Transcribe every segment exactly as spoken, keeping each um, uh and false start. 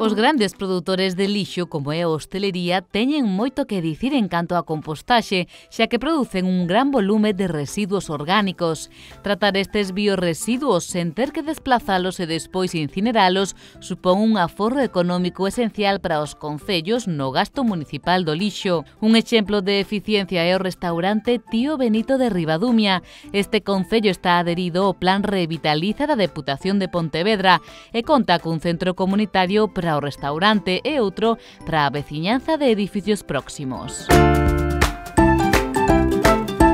Os grandes produtores de lixo, como é a hostelería, teñen moito que dicir en canto á compostaxe, xa que producen un gran volume de residuos orgánicos. Tratar estes biorresiduos sen ter que desplazalos e despois incineralos supón un aforro económico esencial para os concellos no gasto municipal do lixo. Un exemplo de eficiencia é o restaurante Tío Benito de Ribadumia. Este concello está adherido ao Plan Revitaliza da Deputación de Pontevedra e conta cun centro comunitario para o restaurante e outro para a veciñanza de edificios próximos.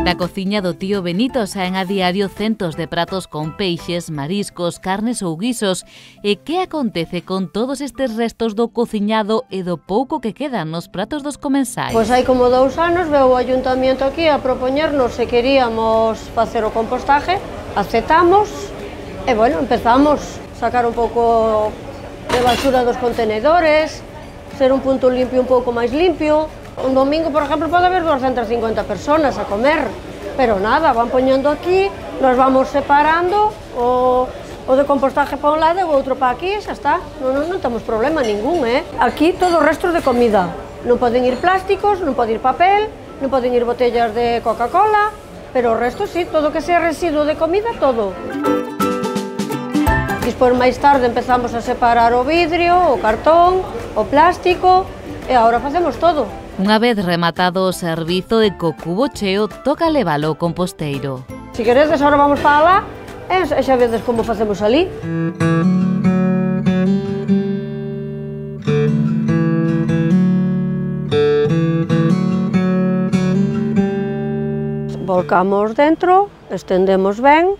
Na cociña do Tío Benito saen a diario centos de pratos con peixes, mariscos, carnes ou guisos. E que acontece con todos estes restos do cociñado e do pouco que quedan nos pratos dos comensais? Pois hai como dous anos veu o Ayuntamiento aquí a propoñernos se queríamos facer o compostaje, aceptamos e, bueno, empezamos a sacar un pouco de basura dos contenedores, ser un punto limpio un pouco máis limpio. Un domingo, por exemplo, pode haber doscientas cincuenta personas a comer, pero nada, van poñendo aquí, nos vamos separando, o, o de compostaje para un lado e o outro para aquí, xa está, non, non, non temos problema ningún, eh? Aquí todo o resto de comida, non poden ir plásticos, non pode ir papel, non poden ir botellas de Coca-Cola, pero o resto sí, todo que sea residuo de comida, todo. Despois, máis tarde, empezamos a separar o vidrio, o cartón, o plástico, e agora facemos todo. Unha vez rematado o servizo de co cubo cheo, toca levalo ao composteiro. Se queredes, agora vamos para lá, e xa vedes como facemos ali. Volcamos dentro, estendemos ben,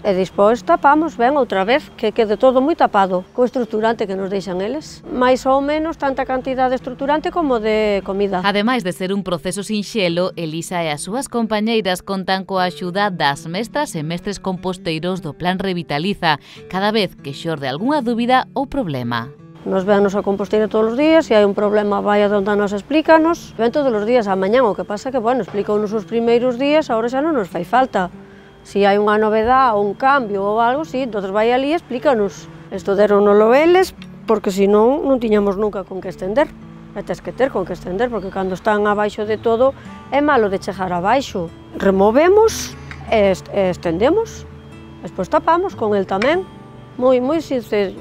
e despois tapamos ben outra vez, que quede todo moi tapado, co estruturante que nos deixan eles. Mais ou menos tanta cantidade de estruturante como de comida. Ademais de ser un proceso sinxelo, Elisa e as súas compañeiras contan coa axuda das mestras e mestres composteiros do Plan Revitaliza, cada vez que xorde algunha dúbida ou problema. Nos véanos a composteira todos os días, se hai un problema vai a donde nos explícanos. Ven todos os días a mañán, o que pasa que, bueno, explica-nos os primeiros días, agora xa non nos fai falta. Se hai unha novedade ou un cambio ou algo, sí, entonces vai ali e explícanos. Isto deronolo eles, porque senón non tiñamos nunca con que estender. E tes que ter con que estender, porque cando están abaixo de todo é malo de chegar abaixo. Removemos e estendemos, despois tapamos con el tamén. Moi, moi sincero.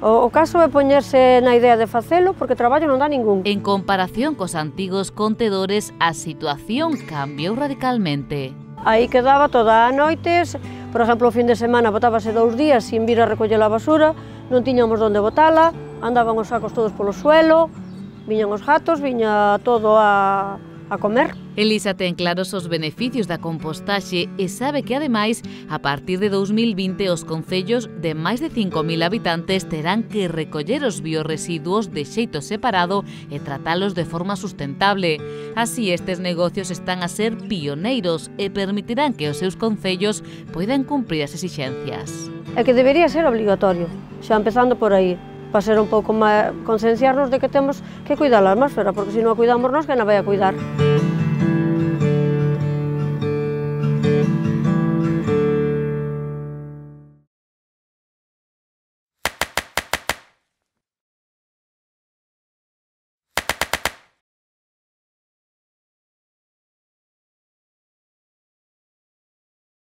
O, o caso é poñerse na idea de facelo, porque traballo non dá ningún. En comparación cos antigos contedores, a situación cambiou radicalmente. Aí quedaba toda a noite, por exemplo, o fin de semana botábase dous días sin vir a recoller a basura, non tiñamos onde botala, andaban os sacos todos polo suelo, viñan os gatos, viña todo a, a comer. Elisa ten claros os beneficios da compostaxe e sabe que, ademais, a partir de dous mil vinte, os concellos de máis de cinco mil habitantes terán que recoller os biorresiduos de xeito separado e tratalos de forma sustentable. Así, estes negocios están a ser pioneiros e permitirán que os seus concellos poidan cumprir as exixencias. É que debería ser obligatorio, xa empezando por aí, para ser un pouco máis concienciarnos de que temos que cuidar a atmósfera, porque se non a cuidamos nós, que non vai a cuidar?